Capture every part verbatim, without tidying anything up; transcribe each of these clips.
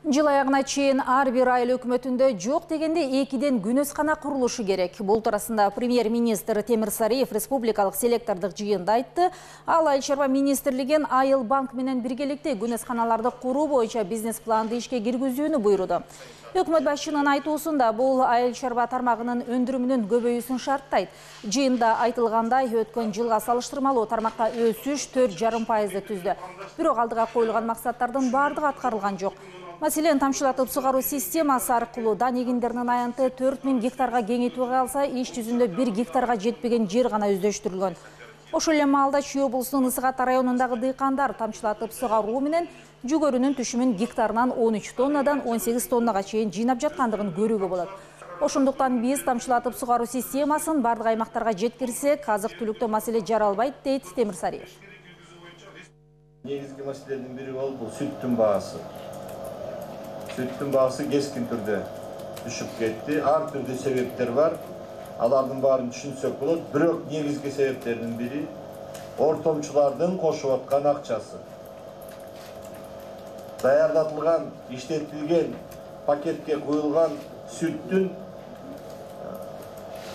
Жыл аягына чейин ар бир айыл өкмөтүндө жок дегенде экиден күнөскана курулушу керек. Бул туурасында премьер-министр Темир Сариев республикалык селектордук жыйында айтты. Ал Айыл чарба министрлигин Айыл банк менен биргеликте күнөсканаларды куруу боюнча бизнес-планды ишке киргизүүнү буйруду. Өкмөт башчынын айтуусунда бул айыл чарба тармагынын өндүрүмүнүн көбөйүүсүн шарттайт. Жыйында айтылгандай, өткөн жылга салыштырмалуу тармакта өсүш төрт жарым пайызды түздү. Бирок алдыга коюлган максаттардын бардыгы аткарылган жок. Маселен, тамчылатып сугаруу системасы аркылуу дан эгиндеринин аянты төрт миң гектарга кеңейтүү кылса, иш жүзүндө бир гектарга жетпеген жер гана өздөштүрүлгөн. Ошол эле маалда Чүй облусунун Ысык-Ата районундагы дыйкандар тамчылатып сугаруу менен жүгөрүнүн түшүмүн гектарынан он үч тоннадан он сегиз тоннага чейин жыйнап жаткандыгын көрүүгө болот. Ошондуктан биз тамчылатып сугаруу системасын бардык аймактарга жеткирсек, азык-түлүктө маселе жаралбайт, дейт Темир Сариев. Негизги маселелердин бири бул сүттүн баасы. Сүттүн баасы кескин түрдө түшүп кетти. Ар түрдүү себептер бар. Алардын баарын түшүнсөк болот. Бирок негизги себептердин бири ортомчулардын кошуп аткан акчасы. Даярдатылган, иштетилген, пакетке куюлган сүттүн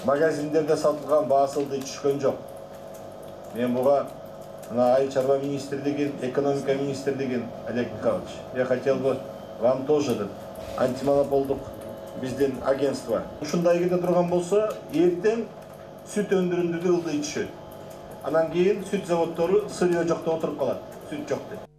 магазиндерде сатылган баасылды түшкөн жок. Мен буга Айыл чарба министрлигин, экономика министрлигин, Олег Михайлович, я хотел бы вам тоже деп антимонополдук биздин агентство. Ушундай кете турган болсо, эртең сүт өндүрүмдү ылдый түшөт. Анан кийин сүт заводдору сырье жок деп отуруп калат. Сүт жок деп.